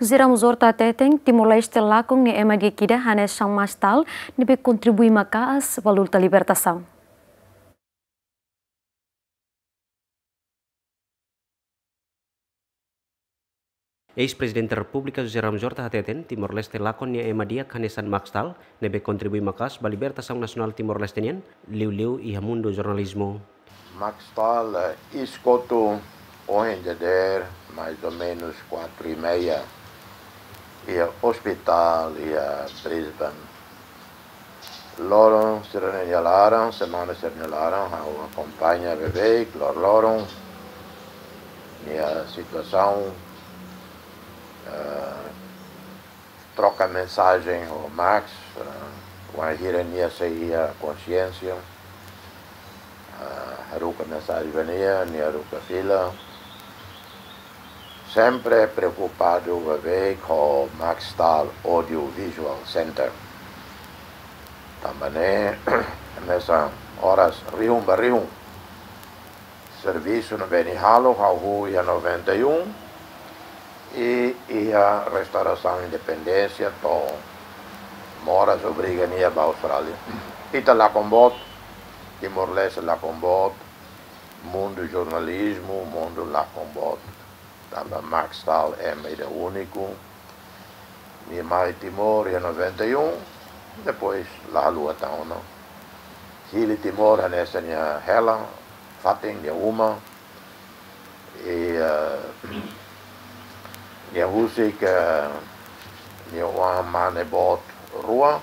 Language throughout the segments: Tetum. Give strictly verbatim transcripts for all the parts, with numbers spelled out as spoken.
José Ramos Horta hateten, Timor-Leste lakon nia ema di'ak ida hanesan Max Stahl, ne'ebé kontribui maka'as ba luta libertasaun. Eis-Prezidente Repúblika José Ramos Horta hateten, Timor-Leste lakon nia ema di'ak hanesan Max Stahl, ne'ebé kontribui maka'as ba libertasaun nasionál Timor-Leste nian, liuliu iha mundu jornalizmu. Max Stahl, eh, iis kotuk ohin dadeer, mais ou menus quatro e meia, iha ospitál iha Brisbane. Loron sira-ne'e nia laran, semana sira-ne'e nia laran, ha'u akompaña beibeik, loroloron, nia situasaun, eh, troka mensajen ho Max, eh, wainhira nia sei iha konxiénsia, eh, haruka mensajen ba nia, nia haruka fila. Sempre preokupadu beibeik ho Max Stahl Audio Visual Center. Tanba ne'e, hanesan oras rihun ba rihun servisu ne'ebé nia halo, hahú iha noventa e um, i iha restaurasaun independénsia to'o moras obriga nia ba Austrália. Ita lakon boot, Timor-Leste lakon boot, mundu jornalizmu, mundu lakon boot. Tanba Max Stahl ema ida úniku. Nia mai Timor iha noventa e um, depois la haluha tan ona. Hili Timor hanesan nia hela, fatin nia uma. I, eh, nia husik, eh, nia oan mane boot rua,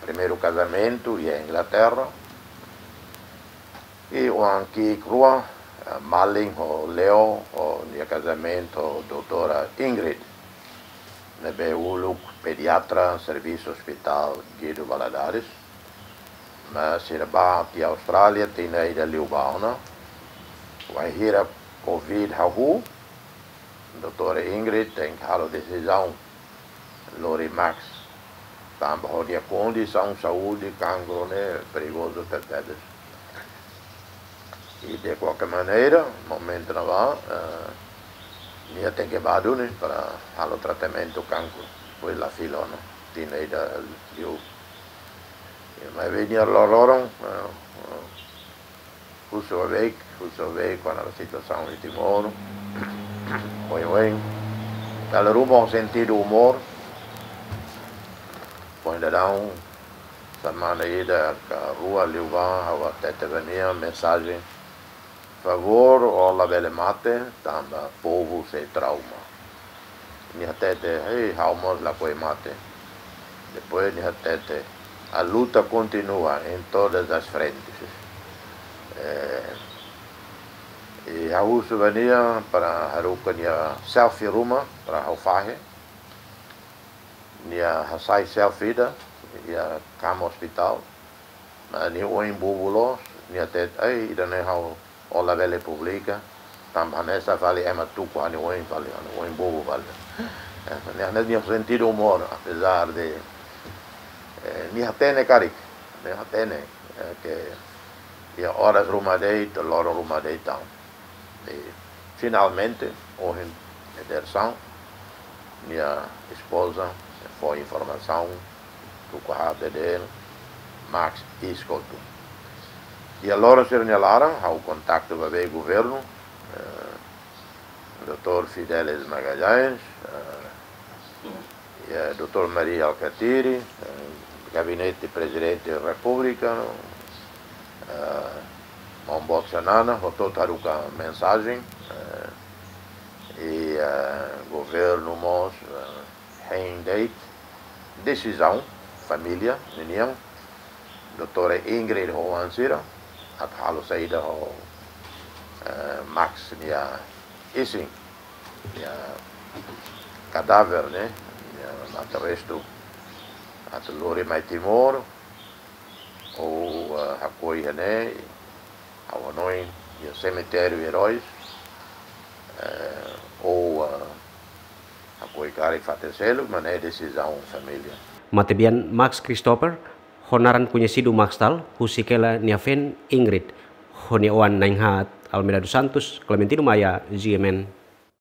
primeiru kazamentu iha Inglaterra. I oan ki'ik rua, eh, Malin ho Leo, ho nia kazamentu ho doutora Ingrid, ne'ebé uluk pediatra servisu Ospitál Guido Valadares. Mas sira bá tiha Austrália, tinan ida liubá ona. Wainhira Covid hahú, doutora Ingrid tenke halo desizaun lori Max. Tanba ho nia kondisaun saúde, kankru ne'e perigozu tebetebes. I de kualkér maneira, momentu ne'ebá, eh, nia tenke bá duni para halo tratamentu kankru. Depois la fila ona, tinan ida liu. I maibé nia loroloron, eh, eh, husu beibeik, husu beibeik kona-ba situasaun iha Timor. Oioin. Dala ruma ho sentidu umór. Foin daudaun, semana ida ka rua liubá, ha'u hatete ba nia mensajen: favór, ó labele mate, tanba povu sei trauma. Nia hatete: "Ei, ha'u mós lakohi mate." Depois nia hatete: "A luta continua em todas as frentes." Eh, i ha'u husu ba nia para haruka nia selfie ruma para ha'u fahe. Nia hasai selfie ida iha kama ospitál. Mas nia oin bubu loos, nia hatete: "Ai, ida-ne'e ha'u, ó labele publika, tanba hanesan fali ema tuku ha'u-nia oin fali, ha'u-nia oin bubu fali." Eh, nia, nia sentidu umór, apezar de, eh, nia hatene karik, nia hatene, eh, ke iha oras ruma de'it, loron ruma de'it tan. I finalmente, ohin dadeer-saan, nia espoza fó informasaun, tuku ha'u dadeer, Max iis kotuk. Iha loron sira-nia laran, ha'u kontaktu ba beibeik governu, eh, doutór Fidelis Magalhães, eh, iha doutór Mari Alkatiri, eh, Gabinete Prezidente da Repúblika, eh, maun boot Xanana, hotu-hotu haruka mensajen, eh, i, eh, governu mós, eh, hein de'it desizaun família ninian, doutora Ingrid ho oan sira, atu halo saida ho, eh, Max nia isin, nia kadáver ne'e, nia mate-restu, atu lori mai Timor, ou, eh, hakoi iha ne'e, ha'u hanoin iha semitériu Heróis, eh, ou, eh, hakoi karik fatin seluk, mas ne'e desizaun família. Matebian Max Christopher, ho naran koñesidu Max Stahl, husik hela nia feen Ingrid, ho nia oan na'in-haat Almeida dos Santos, Clementino Maia, G M N.